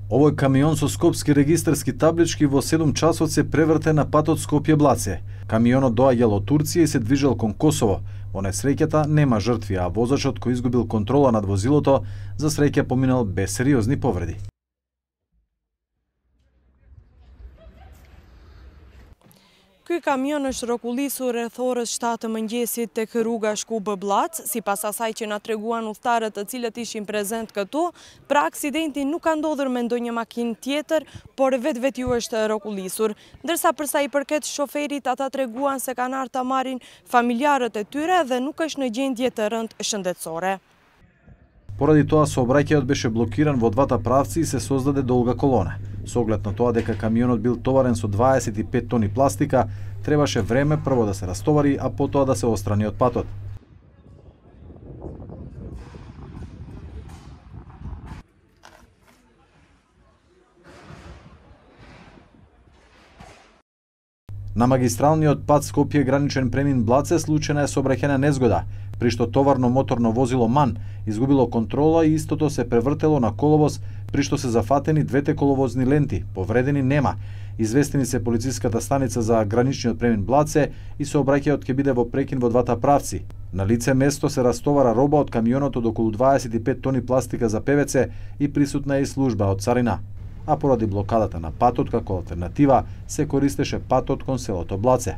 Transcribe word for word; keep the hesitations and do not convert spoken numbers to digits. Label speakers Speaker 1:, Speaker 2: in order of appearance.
Speaker 1: Овој камион со скопски регистарски таблички во седум часот се преврте на патот Скопје-Блаце. Камионот доаѓал од Турција и се движел кон Косово. Во несреќата нема жртви, а возачот кој изгубил контрола над возилото, за среќа поминал без сериозни повреди.
Speaker 2: Ky kamion është rrokullisur rreth orës shtatë të mëngjesit tek rruga Shkup-Blac, sipas asaj që na treguan udhëtarët të cilët ishin prezent këtu, pra aksidenti nuk ka ndodhur me ndonjë makinë tjetër, por vetveti ju është rrokullisur. Ndërsa për sa i përket shoferit, ata treguan se kanë ardhur ta marrin familjarët e tyre dhe nuk është në gjendje të rëndë shëndetësore.
Speaker 1: Поради тоа сообраќајот беше блокиран во двата правци и се создаде долга колона. Со оглед на тоа дека камионот бил товарен со дваесет и пет тони пластика, требаше време прво да се растовари, а потоа да се отстрани од патот. На магистралниот пат Скопје граничен премин Блаце случајна е сообраќајна незгода, при што товарно моторно возило МАН изгубило контрола и истото се превртело на коловоз, при што се зафатени двете коловозни ленти, повредени нема. Известени се полициската станица за граничниот премин Блаце и сообраќајот ќе биде во прекин во двата правци. На лице место се растовара роба од камионот од околу дваесет и пет тони пластика за ПВЦ и присутна е и служба од царина. А поради блокадата на патот како алтернатива се користеше патот кон селото Блаце.